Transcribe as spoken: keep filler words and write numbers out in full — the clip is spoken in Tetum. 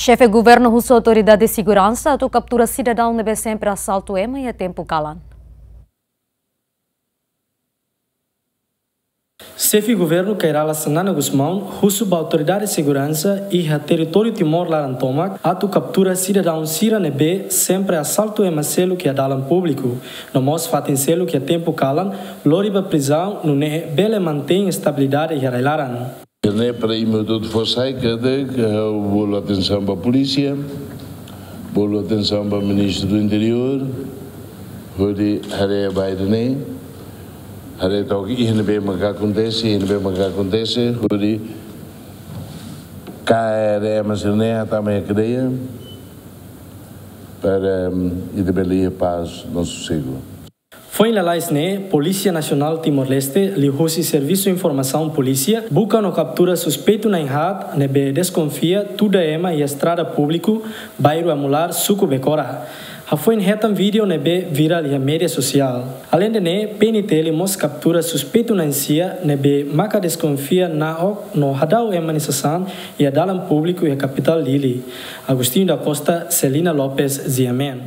Xefe Governu husu autoridade seguransa atu kaptura sidadaun ne'ebé sempre asaltu ema iha tempu kalan. Xefe Governu Kay Rala Xanana Gusmão husu ba autoridade seguransa iha territóriu Timor laran tomak atu kaptura sidadaun sira ne'ebé sempre asaltu ema seluk iha dalan públiku, no mós fatin seluk iha tempu kalan, lori ba prizaun, nune'e bele mantein estabilidade iha rai-laran. Ne'e para imi hotu fó sai katak, eh, bolu atensaun ba polísia, bolu atensaun ba Ministru do Interiór, hodi haree ba ida-ne'e, haree took iha ne'ebé maka akontese, iha ne'ebé maka akontese, hodi kaer ema sira-ne'e tama iha kadeia, para, em, ita bele iha pás no sosegu. Foin lalais ne'e, Polísia Nasionál Timor-Leste, liuhusi Servisu Informasaun Polísia, buka no kaptura suspeitu na'in-haat ne'ebé deskonfia tuda ema iha estrada públiku, bairru Amular, suku Becora. Hafoin hetan vídeo ne'ebé virál iha média sosiál. Aleinde ne'e, P N T L mós kaptura suspeitu na'in-sia ne'ebé maka deskonfia na'ok no hadau ema nia sasán iha dalan públiku iha kapitál Dili. Agostinho da Costa, Celina Lopes, G M N.